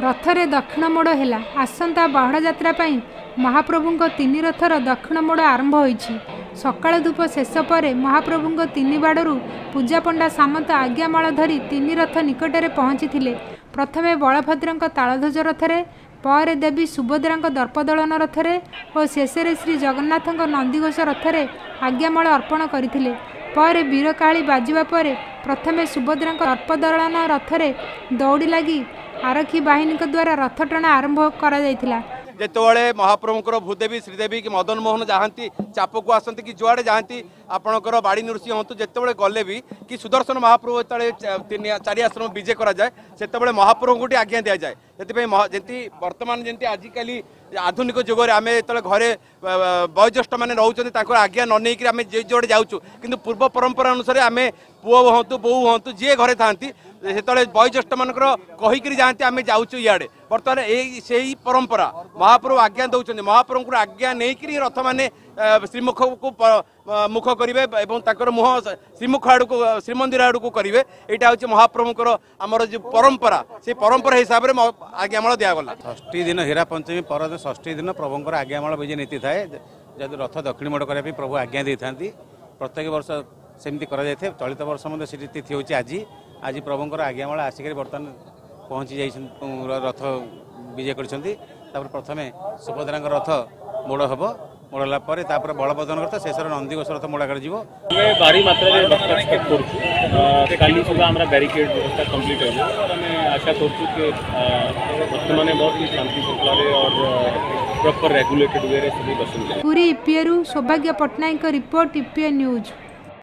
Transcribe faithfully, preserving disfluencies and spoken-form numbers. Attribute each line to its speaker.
Speaker 1: ରଥରେ ଦକ୍ଷିଣ ମୋଡ଼ ହେଲା। ଆସନ୍ତା ବାହୁଡ଼ା ଯାତ୍ରା ପାଇଁ ମହାପ୍ରଭୁଙ୍କ ତିନି ରଥର ଦକ୍ଷିଣ ମୋଡ଼ ଆରମ୍ଭ ହୋଇଛି। ସକାଳ ଧୂପ ଶେଷ ପରେ ମହାପ୍ରଭୁଙ୍କ ତିନି ବାଡ଼ରୁ ପୂଜାପଣ୍ଡା ସାମନ୍ତ ଆଜ୍ଞାମାଳ ଧରି ତିନି ରଥ ନିକଟରେ ପହଞ୍ଚିଥିଲେ। ପ୍ରଥମେ ବଳଭଦ୍ରଙ୍କ ତାଳଧ୍ୱଜ ରଥରେ, ପରେ ଦେବୀ ସୁଭଦ୍ରାଙ୍କ ଦର୍ପଦଳନ ରଥରେ ଓ ଶେଷରେ ଶ୍ରୀଜଗନ୍ନାଥଙ୍କ ନନ୍ଦିଘୋଷ ରଥରେ ଆଜ୍ଞାମାଳ ଅର୍ପଣ କରିଥିଲେ। ପରେ ବୀରକାହାଳି ବାଜିବା ପରେ ପ୍ରଥମେ ସୁଭଦ୍ରାଙ୍କ ଦର୍ପଦଳନ ରଥରେ ଦଉଡ଼ି ଲାଗି ଆରକ୍ଷୀ ବାହିନୀଙ୍କ ଦ୍ୱାରା ରଥଟଣା ଆରମ୍ଭ କରାଯାଇଥିଲା।
Speaker 2: ଯେତେବେଳେ ମହାପ୍ରଭୁଙ୍କର ଭୂଦେବୀ, ଶ୍ରୀଦେବୀ କି ମଦନ ମୋହନ ଯାଆନ୍ତି, ଚାପକୁ ଆସନ୍ତି କି ଯୁଆଡ଼େ ଯାଆନ୍ତି, ଆପଣଙ୍କର ବାଡ଼ି ନୃସିଂହ ହୁଅନ୍ତୁ, ଯେତେବେଳେ ଗଲେ ବି କି ସୁଦର୍ଶନ ମହାପ୍ରଭୁ ଯେତେବେଳେ ତିନି ଚାରି ଆଶ୍ରମ ବିଜେ କରାଯାଏ, ସେତେବେଳେ ମହାପ୍ରଭୁଙ୍କୁ ଟିକେ ଆଜ୍ଞା ଦିଆଯାଏ। ସେଥିପାଇଁ ଯେମିତି ବର୍ତ୍ତମାନ ଯେମିତି ଆଜିକାଲି ଆଧୁନିକ ଯୁଗରେ ଆମେ ଯେତେବେଳେ ଘରେ ବୟୋଜ୍ୟେଷ୍ଠମାନେ ରହୁଛନ୍ତି, ତାଙ୍କର ଆଜ୍ଞା ନ ନେଇକରି ଆମେ ଯେ ଯୁଆଡ଼େ ଯାଉଛୁ। କିନ୍ତୁ ପୂର୍ବ ପରମ୍ପରା ଅନୁସାରେ ଆମେ ପୁଅ ହୁଅନ୍ତୁ, ବୋହୂ ହୁଅନ୍ତୁ, ଯିଏ ଘରେ ଥାଆନ୍ତି, ସେତେବେଳେ ବୟୋଜ୍ୟେଷ୍ଠମାନଙ୍କର କହିକିରି ଯାଆନ୍ତି, ଆମେ ଯାଉଛୁ ଇଆଡ଼େ। ବର୍ତ୍ତମାନ ଏଇ ସେଇ ପରମ୍ପରା ମହାପ୍ରଭୁ ଆଜ୍ଞା ଦେଉଛନ୍ତି। ମହାପ୍ରଭୁଙ୍କର ଆଜ୍ଞା ନେଇକରି ରଥମାନେ ଶ୍ରୀମୁଖକୁ ମୁଖ କରିବେ ଏବଂ ତାଙ୍କର ମୁହଁ ଶ୍ରୀମୁଖ ଆଡ଼କୁ, ଶ୍ରୀମନ୍ଦିର ଆଡ଼କୁ କରିବେ। ଏଇଟା ହେଉଛି ମହାପ୍ରଭୁଙ୍କର ଆମର ଯେଉଁ ପରମ୍ପରା, ସେଇ ପରମ୍ପରା ହିସାବରେ ଆଜ୍ଞାମାଳ ଦିଆଗଲା।
Speaker 3: ଷଷ୍ଠୀ ଦିନ, ହୀରା ପଞ୍ଚମୀ ପରଦିନ ଷଷ୍ଠୀ ଦିନ ପ୍ରଭୁଙ୍କର ଆଜ୍ଞାମାଳ ବିଜେ ନୀତି ଥାଏ। ଯଦି ରଥ ଦକ୍ଷିଣ ମୋଡ଼ କରିବା ପାଇଁ ପ୍ରଭୁ ଆଜ୍ଞା ଦେଇଥାନ୍ତି, ପ୍ରତ୍ୟେକ ବର୍ଷ ସେମିତି କରାଯାଇଥାଏ। ଚଳିତ ବର୍ଷ ମଧ୍ୟ ସେଠି ତିଥି ହେଉଛି ଆଜି। ଆଜି ପ୍ରଭୁଙ୍କର ଆଜ୍ଞାମାଳ ଆସିକରି ବର୍ତ୍ତମାନ ପହଞ୍ଚି ଯାଇଛନ୍ତି, ରଥ ବିଜେ କରିଛନ୍ତି। ତାପରେ ପ୍ରଥମେ ସୁଭଦ୍ରାଙ୍କ ରଥ ମୋଡ଼ ହେବ। ମୋଡ଼ ହେଲା ପରେ ତାପରେ ବଳଭଦ୍ରଙ୍କ ରଥ, ଶେଷରେ ନନ୍ଦିଘୋଷ ରଥ ମୋଡ଼ା କରାଯିବ।
Speaker 4: ଆମେ ଭାରି ମାତ୍ରାରେ ଭକ୍ତ ଏକ୍ସପେକ୍ଟ କରୁଛୁ। କାଲି ସୁଦ୍ଧା ଆମର ବ୍ୟାରିକେଡ୍ ବ୍ୟବସ୍ଥା କମ୍ପ୍ଲିଟ୍ ହୋଇଯିବ। ଆମେ ଆଶା କରୁଛୁ କି ଭକ୍ତମାନେ ବହୁତ ହି ଶାନ୍ତି ଶୃଙ୍ଖଳାରେ और ପ୍ରପର ରେଗୁଲେଟେଡ୍ ୱେରେ ସବୁ ଦର୍ଶନ କରିବେ।
Speaker 1: ପୁରୀ ଇପିଏରୁ ସୌଭାଗ୍ୟ ପଟ୍ଟନାୟକଙ୍କ ରିପୋର୍ଟ, ଇପିଏ ନ୍ୟୁଜ୍।